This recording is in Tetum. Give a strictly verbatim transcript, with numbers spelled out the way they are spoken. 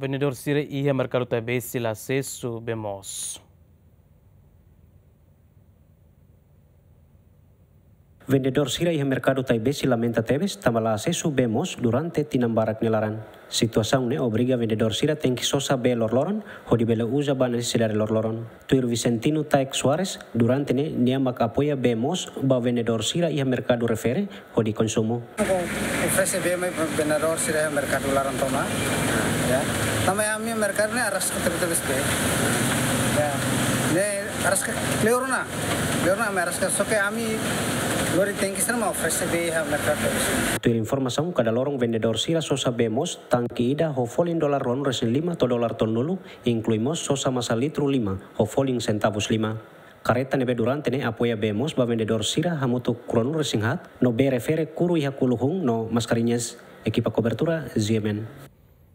Vendedór sira iha merkadu Taibesi la asesu bee moos. Vendedór sira iha merkadu Taibesi lamenta tebes tanba la asesu bee moos durante tinan barak nia laran. Situasaun ne'e obriga vendedór sira tenke sosa bee lorloron hodi bele uza ba nesesidade lorloron. Tuir Vicentino Taek Soares, durante ne'e nia mak apoia bee moos ba vendedór sira iha merkadu refere hodi konsumu. Oferese bee mai vendedór sira iha merkadu laran tomak. Ya. Tanba ami merkadu ne'e araska tebetebes bee. Ya. Ne'e araska kleur ona. Kleur ona ami araska, só ke ami lori tenke sira mak oferese bee iha merkadu tebetebes. Tuir informasaun, kada loron vendedór sira sosa bee moos tanke ida ho folin dolar ruanulu-resin-lima to'o dolar tolunulu, inklui mós sosa masa litru lima ho folin sentavus lima. Kareta ne'ebé durante ne'e apoia bee moos ba vendedór sira hamutuk ruanulu-resin-haat, no bee refere kuru iha kulu-hun no maskariñas. Ekipa kobertura, G M N.